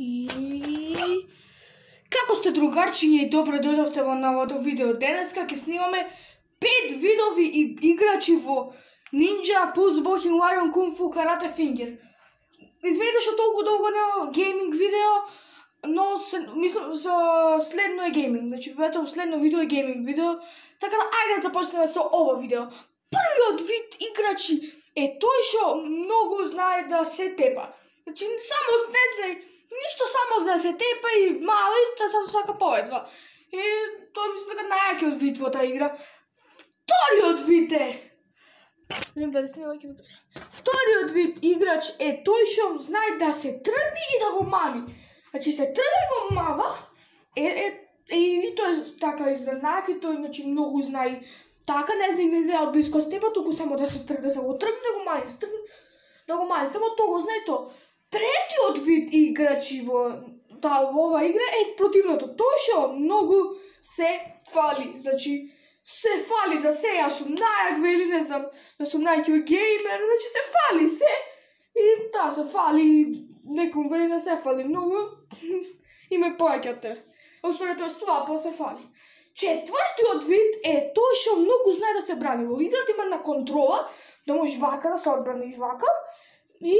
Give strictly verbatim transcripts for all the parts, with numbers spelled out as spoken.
И како сте, другарчиња, и добре дојдовте во новото видео. Денеска ќе снимаме пет видови играчи во Ninja, Pulse, Bohin, Warrior, Kung Fu, Karate, Finger. Извинете што толку долго нема гейминг видео, но се, мислам со следно е гейминг. Значи, вето следно видео е гейминг видео. Така да ајде да започнеме со ова видео. Првиот вид играчи е тој што многу знае да се тепа. Значи, само не знае, ништо само да се тепа и мало и да сака поведва. И тој мислам дека најакиот вид во таа игра. Вториот вид е Не знам дали снима ќе ми кажа. Вториот вид играч е тој што знае да се тргне и да го мани. Значи се тргне и го мава, е, е, е и тој така изненак и тој значи многу знае. Така не знае, не знае од близко степа, туку само да се тргне, да се го тргне, да го мани, да го мани, само тоа го знае тоа. Третиот вид играчи во таа во ова игра е спротивното. Тој што многу се фали, значи се фали за се, јас сум најак вели, не знам, јас сум најаки геймер, значи се фали се и да, се фали, неком вели не се фали многу, и ме појаќате. Оствари тоа слабо се фали. Четвртиот вид е тој што многу знае да се брани. Во играта има на контрола, да можеш вака да се одбраниш вака, и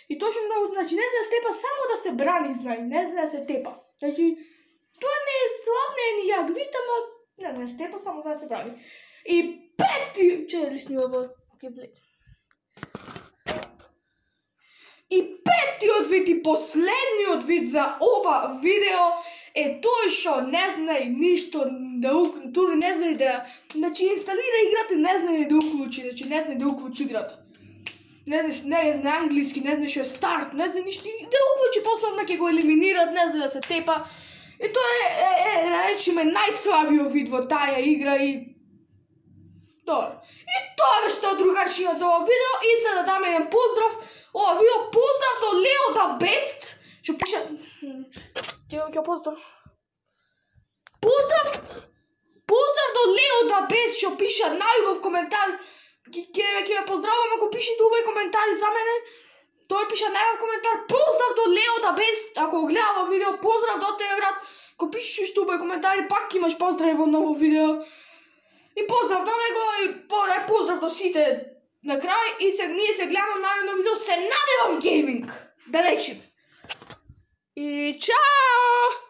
и тој што многу, значи не знае да се тепа, само да се брани знае, не знае да се тепа. Значи, тоа не е слаб, не е ни јадовит, ама не знае да се тепа, само знае да се брани. И пети, че ли снима во геймплей? И петиот вид и последниот вид за ова видео е тој што не знае ништо да тури не знае да, значи инсталира играта, не знае да уклучи, значи не знае да уклучи играта. Не знае, не знае англиски, не знае што е старт, не знае ништо, да уклучи, после одма ќе го елиминират, не знае да се тепа. И тоа е, е, е, речиме, најслабиот вид во таа игра и... Добро. И тоа беше тоа, другарчиња, за ова видео и се да даме еден поздрав. Ова видео поздрав до Leo the Best, што пише... Ќе ќе поздрав. Поздрав! Поздрав до Leo the Best, што пише најубав коментар. Ќе ќе ме поздравам ако пишете убави коментари за мене. Тој пише најубав коментар. Поздрав до Leo the Best. Ако го гледало видео, поздрав до тебе, брат. Ако пишеш уште убави коментари, пак имаш поздрави во ново видео. И поздрав до него и поздрав до сите на крај. И се ние се гледаме на наредно видео. Се надевам гейминг, да речем. И чао!